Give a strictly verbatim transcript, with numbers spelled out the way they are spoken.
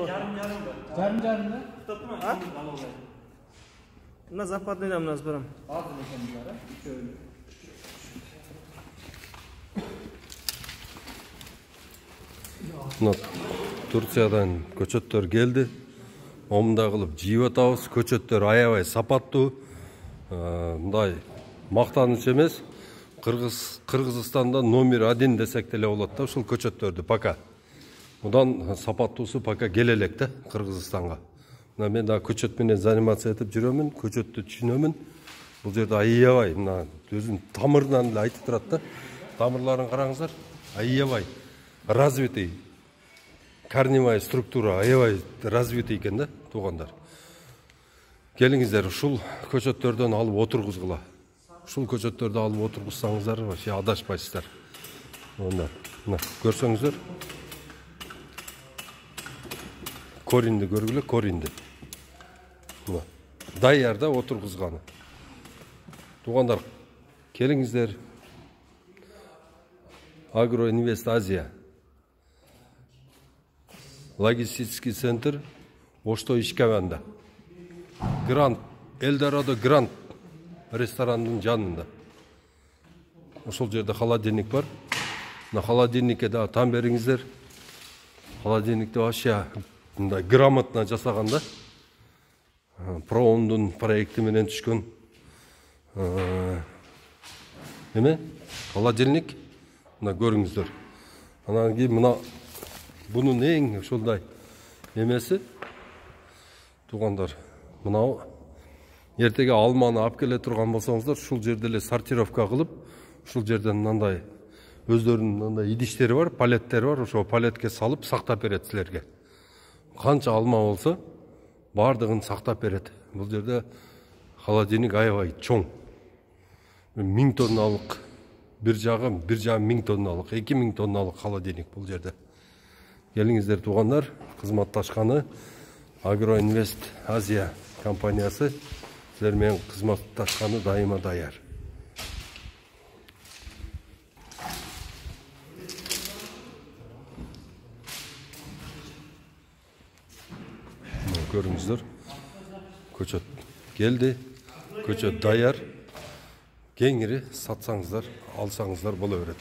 Жарым жарым да? Мына западныйдан мына барам. Азыр экен булар, үчөө. Мына Турциядан көчөттөр келди. Момундай кылып жийип атабыз. Көчөттөр аябай сапаттуу. Мындай мактаныч эмес. Кыргыз Кыргызстанда номер один десек деле болот да ушул көчөттөрдү пока. Мындан сапаттуусу пока келе элек да Кыргызстанга. Мына мен да көчөт менен занимация этип жүрөмүн, көчөттү түшүнөмүн. Бул жерде аябай мына өзүнүн тамырынан эле айтып турат да. Тамырларын караңыздар, аябай развитый. Корневая структура аябай развитый экен да, туугандар. Келиңиздер, ушул көчөттөрдөн алып отургузгула. Ушул көчөттөрдү алып отургузсаңыздар, вообще адашпайсыздар. Мына, мына көрсөңүздөр. Коринди көргүлө, коринди. Мына, даярда отургузганы. Туугандар, келиңиздер. Агроинвест Азия. Логистический центр Ошто Ишкабанда. Грант, Элдорадо Грант ресторанынын жанында. Ошол жерде холодильник бар. На холодильникке да там бериңиздер. Холодильникти вообще мындай грамотно жасаган да. Проомдун проекти менен түшкөн. Эме? Холодильник. Мына көрүңүздөр. Анан кийин мына бунун эң ушундай эмеси туугандар, мынау эртеге алманы алып келе турган болсоңуздар, ушул жерде эле сортировка кылып, ушул жерден мындай өздөрүнүн мындай идиштери бар, палеттери бар, ошо палетке салып сактап берет силерге. Канча алма болсо, бардыгын сактап берет. Бул жерде холодильник аябай чоң. миң тонналык, бир жагы бир жарым миң тонналык, эки миң тонналык холодильник бул жерде. Келиңиздер туугандар, кызматташканы Агроинвест Азия компаниясы силер менен кызматташканы дайыма даяр. Көрүңүздөр, көчөт келди, көчөт даяр. Кеңири сатсаңыздар, алсаңыздар боло берет.